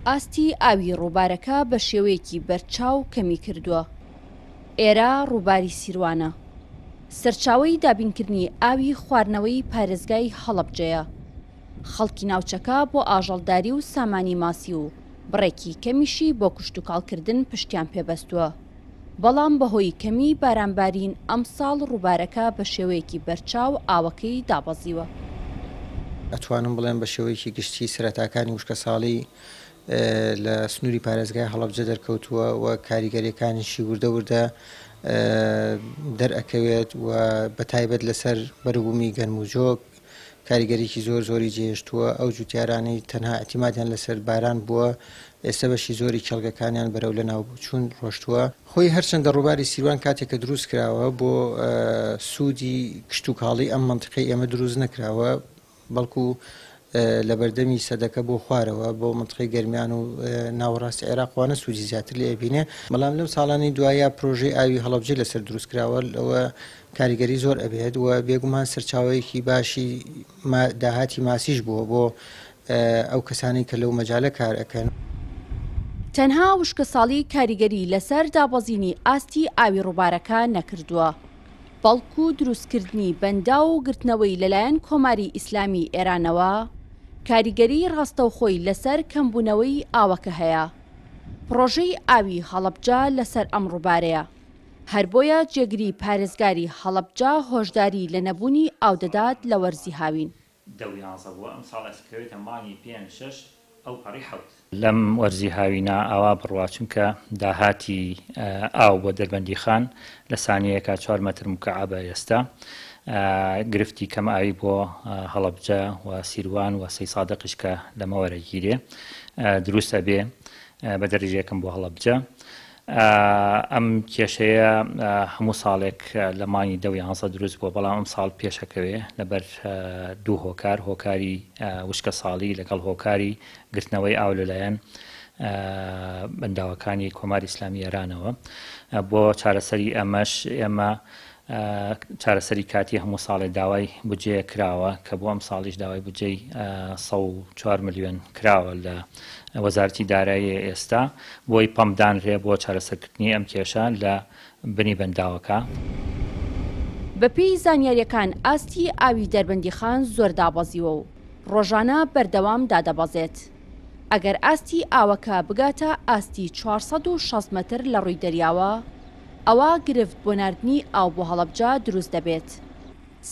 ئاستی ئاوی ڕووبارەکە بە شێوەیەکی بەرچاو کەمی کردووە. ئێرە ڕووباری سیروانە. سەرچاوەی دابینکردنی ئاوی خواردنەوەی پارێزگای هەڵەبجەیە. خەڵکی ناوچەکە بۆ ئاژەڵداری و سامانی ماسی و بڕێکی کەمیشی بۆ کشتوکاڵکردن پشتیان پێ بەستووە. بەڵام بەهۆی کەمیی بارانبارین ئەمساڵ ڕووبارەکە بە شێوەیەکی بەرچاو ئاوەکەی دابەزیوە. ئەتوانم بڵێم بە شێوەیەکی گشتی سەرەتاکانی وشکەساڵی لە سنووری پارێزگای هەڵەبجە دەرکەوتووە و کاریگەریەکانیشی وردە وردە دەرئەکەوێت و بە تایبەت لەسەر بەروبوومی گەنم و جۆ کاریگەریی زۆر زۆری جێهێشتووە، ئەو جوتیارانەی تەنها ئیعتیمادیان لەسەر باران بووە، ئێستا بەشی زۆری کێڵگەکانیان بەرەو لەناوچوون ڕۆشتووە. خۆی هەرچەندە ڕووباری سیروان کاتێک کە دروست کراوە بۆ سوودی کشتوکاڵی ئەم مەنتیقەی ئێمە دروست نەکراوە، بەڵکو لەبەردەمی سەدەکە بۆ خوارەوە بۆ مەنتیقەی گەرمیان و ناوەڕاستی عێراق وانە سوودی زیاتر لێ ئەبینێ، بەڵام لەم ساڵانەی دوایە پرۆژەی ئاوی هەڵەبجەی لەسەر دروست کراوە لەوە کاریگەری زۆر ئەبێت و بێگومان سەرچاوەیەکی باشی داهاتی ماسیش بووە بۆ ئەو کەسانەی کە لەو مەجالە کار ئەکەن. تەنها وشکەساڵی کاریگەری لەسەر دابەزینی ئاستی ئاوی ڕووبارەکە نەکردووە، بەڵکو دروستکردنی بەنداو و گرتنەوەی لەلایەن کۆماری ئیسلامی ئێرانەوە کاریگەری ڕاستەوخۆی لەسەر کەمبوونەوەی ئاوەکە هەیە. پڕۆژەی ئاوی هەڵەبجە لەسەر ئەم ڕووبارەیە. هەر بۆیە جێگری پارێزگاری هەڵەبجە هۆشداری لە نەبوونی ئاو دەدات لە وەرزی هاوین. دە و یانزە بووە، ئەمساڵ ئەکەوێتە مانگی پێنج شەش ئەو پەڕی حەوت. لەم وەرزی هاوینە ئاوا بڕوا چونکە داهاتی ئاو بۆ دەربەندیخان لە سانیەیەکا چوار مەتر موکەعەبە ئێستا گرفتی کەم ئاوی بۆ هەڵەبجە و سیروان و سەیسادقیش کە لەمە وەرەگیرێ دروست ئەبێ بە دەرەجەیەکم بۆ هەڵەبجە ئەم کێشەیە هەموو ساڵێک لە مانگی دە و یانزە دروست بووە، بەڵام ئەمساڵ پێشەکەوێ لەبەر دوو هۆکار، هۆکاری وشکە ساڵی لەگەڵ هۆکاری گرتنەوەی ئاو لەلایەن بەنداوەکانی کۆماری ئیسلامی ئێرانەوە. بۆ چارەسەری ئەمەش ئێمە چارەسەری کاتی هەموو ساڵێ داوای بودجەیەک کراوە کە بۆ ئەمساڵیش داوای بودجەی 104 ملیۆن کراوە لە وەزارەتی دارایی ئێستا بۆی پەمپ دانرێ بۆ چارەسەرکردنی ئەم کێشە لە بنی بەنداوەکە. بەپێی زانیارییەکان ئاستی ئاوی دەربەندیخان زۆر دابەزیوە و ڕۆژانە بەردەوام دادەبەزێت. ئەگەر ئاستی ئاوەکە بگاتە ئاستی 460 مەتر لە ڕووی دەریاوە، ئەوا گرفت بۆ ناردنی ئاو بۆ هەڵەبجە دروست دەبێت.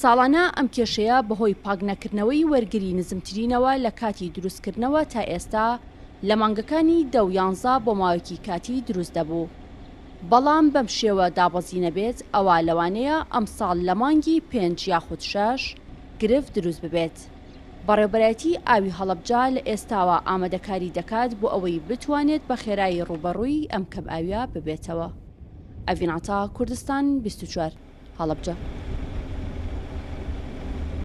ساڵانە ئەم کێشەیە بەهۆی پاکنەکردنەوەی وەرگری نزمترینەوە لە کاتی دروستکردنەوە تا ئێستا لە مانگەکانی دە و یانزە بۆ ماوەیەکی کاتی دروست دەبوو. بەڵام بەم شێوە دابەزینە بێت ئەوا لەوانەیە ئەمساڵ لە مانگی پێنج یاخود شەش گرفت دروست ببێت. بەڕێوبەرایەتی ئاوی هەڵەبجە لە ئێستاوە ئامادەکاری دەکات بۆ ئەوەی بتوانێت بە خێرایی ڕووبەڕووی ئەم کەمئاوییە ببێتەوە. ئەڤین عەتا، کوردستان 24، هەڵەبجە.